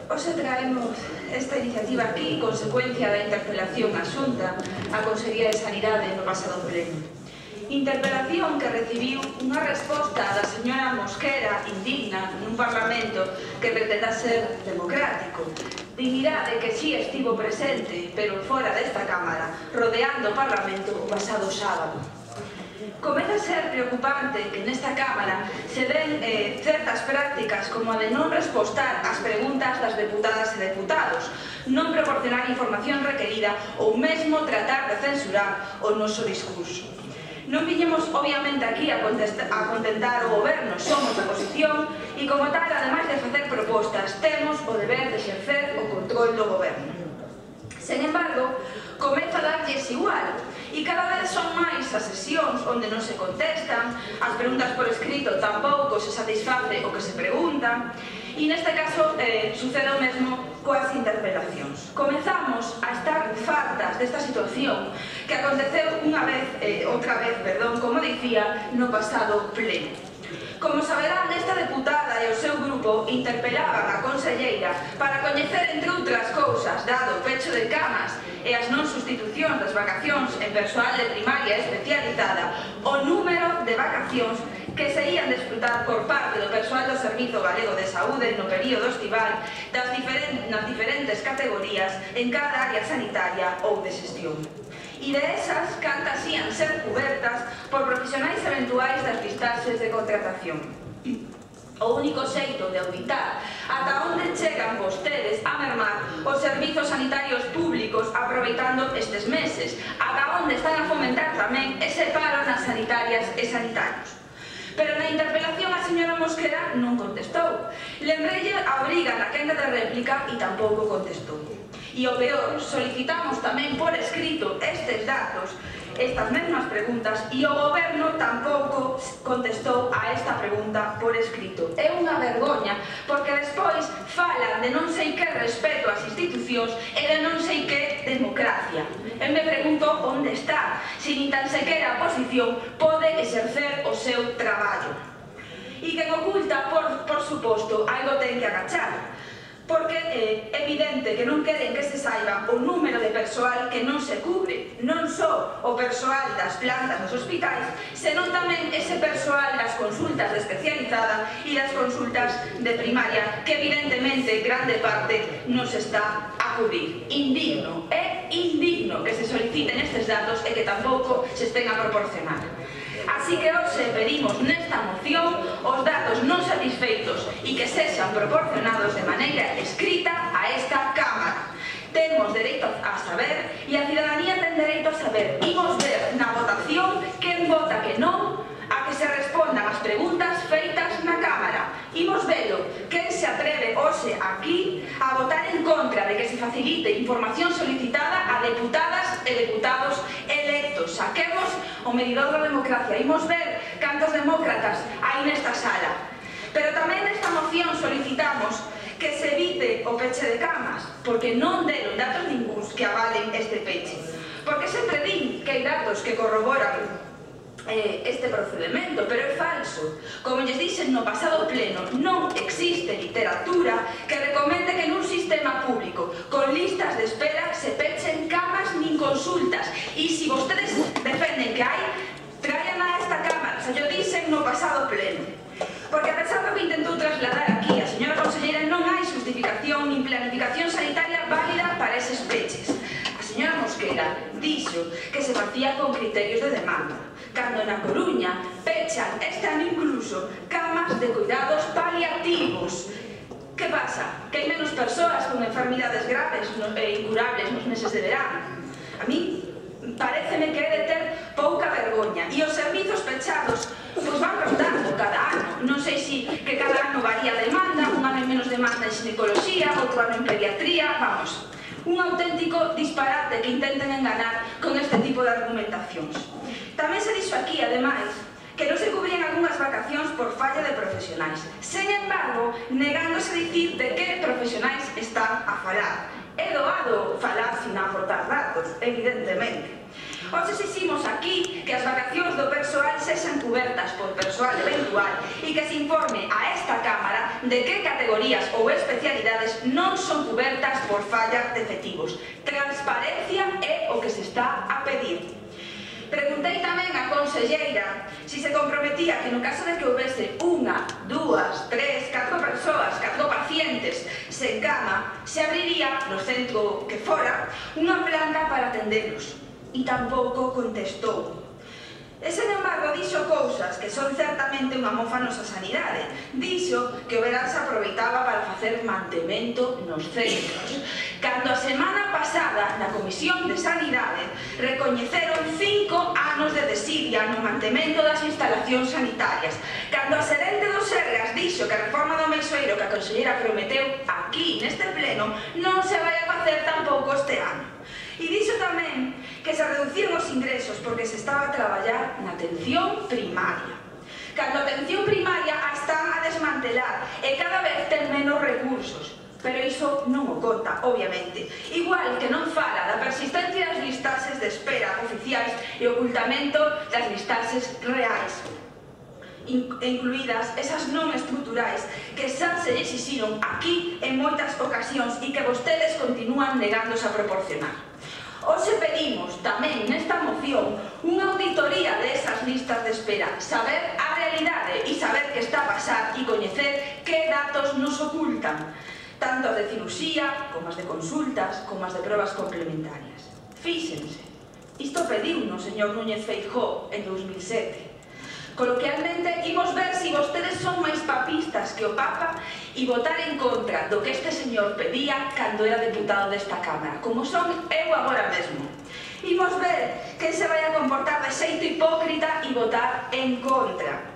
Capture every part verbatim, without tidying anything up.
Hoxe traemos esta iniciativa aquí, consecuencia da interpelación á Xunta á Consellería de Sanidade no pasado pleno. Interpelación que recibiu unha resposta da señora Mosquera indigna nun Parlamento que pretenda ser democrático. Dignidade que si estivo presente, pero fora desta Cámara, rodeando o Parlamento o pasado sábado. Comeza a ser preocupante que nesta Cámara se den eh, certas prácticas como a de non respostar ás preguntas das deputadas e deputados, non proporcionar información requerida ou mesmo tratar de censurar o noso discurso. Non viñemos, obviamente, aquí a, a contentar o goberno, somos de oposición e, como tal, ademais de facer propostas, temos o deber de exercer o control do goberno. Sen embargo, comeza a darlles igual e cada vez son máis as sesións onde non se contestan, as preguntas por escrito tampouco se satisface o que se pregunta e neste caso eh, sucede o mesmo coas interpelacións. Comezamos a estar fartas desta situación que aconteceu unha vez, eh, outra vez, perdón, como dicía, no pasado pleno. Como saberán, esta deputada e o seu grupo interpelaban a conselleira para coñecer, entre outras cousas, dado o pecho de camas e as non sustitucións das vacacións en persoal de primaria especializada, o número de vacacións que se ían desfrutar por parte do persoal do Servizo Galego de Saúde no período estival das diferentes, nas diferentes categorías en cada área sanitaria ou de xestión. E de esas, cantas ían ser cubertas por profesionais eventuais das listaxes de contratación. O único xeito de auditar ata onde chegan vostedes a mermar os servizos sanitarios públicos aproveitando estes meses, ata onde están a fomentar tamén ese paro nas sanitarias e sanitarios. Pero na interpelación a señora Mosquera non contestou. Lembrelle a obriga na quenda de réplica e tampouco contestou. E o peor, solicitamos tamén por escrito estes datos, estas mesmas preguntas, e o goberno tampouco contestou a esta pregunta por escrito. É unha vergoña, porque despois falan de non sei que respeto ás institucións e de non sei que democracia. Eu me pregunto onde está, se nin tan sequera a oposición pode exercer o seu traballo. E quen oculta, por, por suposto, algo ten que agachar. Porque é evidente que non queren que se saiba o número de persoal que non se cubre, non só o persoal das plantas dos hospitais, senón tamén ese persoal das consultas de especializada e das consultas de primaria, que evidentemente grande parte non se está a cubrir. Indigno, é indigno que se soliciten estes datos e que tampouco se estén a proporcionar. Así que hoxe pedimos nesta moción os datos non satisfeitos e que sexan proporcionados de maneira escrita a esta Cámara. Temos dereito a saber e a cidadanía ten dereito a saber. Imos ver na votación quen vota que non a que se respondan as preguntas feitas na Cámara. Imos velo, quen se atreve hoxe aquí a votar en contra de que se facilite información solicitada a deputadas e deputados electos. Saquemos o medidor da democracia. Imos ver cantos demócratas hai nesta sala. Pero tamén nesta moción solicitamos que se evite o peche de camas, porque non deron datos ningúns que avalen este peche. Porque sempre din que hai datos que corroboran este procedimento, pero é falso. Como lles dixen no pasado pleno, non existe literatura que recomende que nun sistema público con listas de espera se pechen camas nin consultas. E se vostedes defenden que hai, traian a esta Cámara, se yo dixen no pasado pleno. Porque a pesar do que intentou trasladar aquí a señora conselleira, non hai justificación nin planificación sanitaria válida para eses peches. A señora Mosquera dixo que se facía con criterios de demanda, cando na Coruña pechan este ano incluso camas de cuidados paliativos. Que pasa? Que hai menos persoas con enfermidades graves e incurables nos meses de verano. A mí pareceme que é de ter pouca vergoña. E os servizos pechados pois van rotando cada ano. Non sei se que cada ano varía a demanda, un ano hai menos demanda en ginecoloxía, outro ano en pediatría, vamos. Un auténtico disparate que intenten enganar con este tipo de argumentacións. Tamén se dixo aquí, ademais, que non se cubrían algunhas vacacións por falla de profesionais. Sen embargo, negándose a dicir de que profesionais están a falar. É doado falar sin aportar datos, evidentemente. Hoxe exiximos aquí que as vacacións do persoal sexan cubertas por persoal eventual e que se informe a esta Cámara de que categorías ou especialidades sanidarias non son cubertas por falla de efectivos. Transparencia é o que se está a pedir. Preguntei tamén á conselleira se se comprometía que no caso de que houvese unha, dúas, tres, catro persoas, catro pacientes sen cama, se abriría no centro que fora unha planta para atenderlos. E tampouco contestou. E, sen embargo, dixo cousas que son certamente unha mofa nosa sanidade. Dixo que o verán se aproveitaba para facer mantemento nos centros. Cando a semana pasada, na Comisión de Sanidade, recoñeceron cinco anos de desidia no mantemento das instalacións sanitarias. Cando a xerente do Sergas dixo que a reforma do Meixoeiro que a conselleira prometeu aquí, neste pleno, non se vai a facer tampouco este ano. E dixo tamén que se reduciron os ingresos porque se estaba a traballar na atención primaria. Cando a atención primaria a están a desmantelar e cada vez ten menos recursos. Pero iso non o conta, obviamente. Igual que non fala da persistencia das listaxes de espera oficiais e ocultamento das listaxes reais, incluídas esas non estruturais que xa se exixiron aquí en moitas ocasións e que vostedes continúan negándose a proporcionar. Hoxe pedimos tamén nesta moción unha auditoría desas listas de espera, saber a realidade e saber que está a pasar e coñecer que datos nos ocultan, tanto as de cirurxía, como as de consultas, como as de probas complementarias. Fíxense, isto pediu o señor Núñez Feijóo en dous mil sete. Coloquialmente, imos ver se vostedes son máis papistas que o Papa e votar en contra do que este señor pedía cando era deputado desta Cámara, como son eu agora mesmo. Imos ver que se vai a comportar de xeito hipócrita e votar en contra.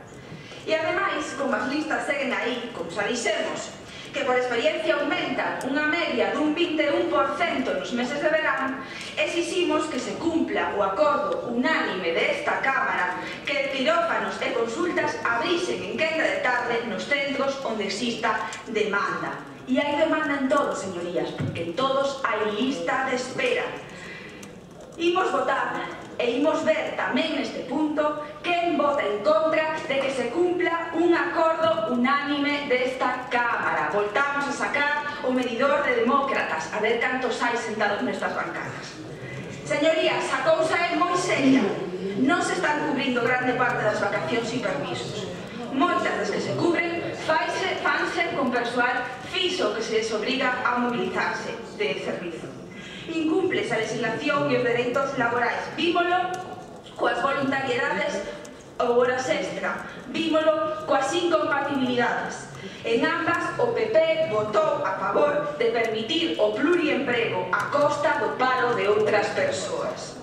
E ademais, como as listas seguen aí, como xa dixemos, que por experiencia aumentan unha media dun vinte e un por cento nos meses de verán, exiximos que se cumpla o acordo unánime desta Cámara que quirófanos e consultas abrisen en quenda de tarde nos centros onde exista demanda. E hai demanda en todos, señorías, porque en todos hai lista de espera. Imos votar e imos ver tamén neste punto quen vota en contra de que se cumpla un acordo unánime desta Cámara. Voltamos a sacar o medidor de demócratas, a ver cantos hai sentados nestas bancadas. Señorías, a cousa é moi seria. Non se están cubrindo grande parte das vacacións e permisos. Moitas das que se cubren fanse, fanse con persoal fixo que se les obriga a mobilizarse de servizo. Incúmples a legislación e os dereitos laborais. Vímolo coas voluntariedades ou horas extra. Vímolo coas incompatibilidades. En ambas, o P P votou a favor de permitir o pluriemprego a costa do paro de outras persoas.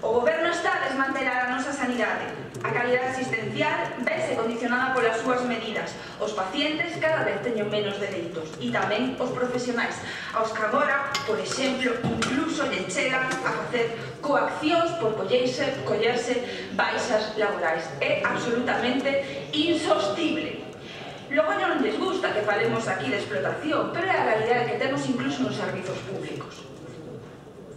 O Goberno está a desmantelar a nosa sanidade. A calidade asistencial vese condicionada polas súas medidas. Os pacientes cada vez teñen menos dereitos e tamén os profesionais, aos que agora, por exemplo, incluso lle chegan a facer coaccións por collerse, collerse baixas laborais. É absolutamente insostible. Logo non les gusta que falemos aquí de explotación, pero é a realidade que temos incluso nos servizos públicos.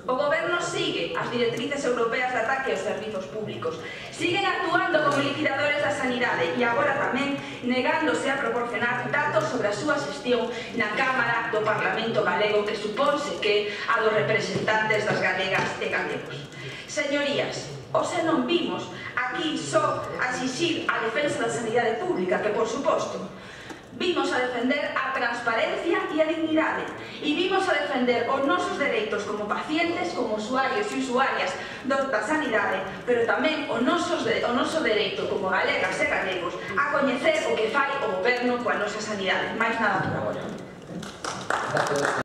O Goberno sigue as directrices europeas de ataque aos servizos públicos. Siguen actuando como liquidadores da sanidade e agora tamén negándose a proporcionar datos sobre a súa xestión na Cámara do Parlamento Galego, que supónse que a dos representantes das galegas e galegos. Señorías, hoxe non vimos aquí só a exixir a defensa da sanidade pública, que por suposto, vimos a defender a transparencia e a dignidade e vimos a defender os nosos dereitos como pacientes, como usuarios e usuarias da sanidade, pero tamén o noso dereito como galegas e galegos a coñecer o que fai o Goberno coa nosa sanidade. Mais nada por agora.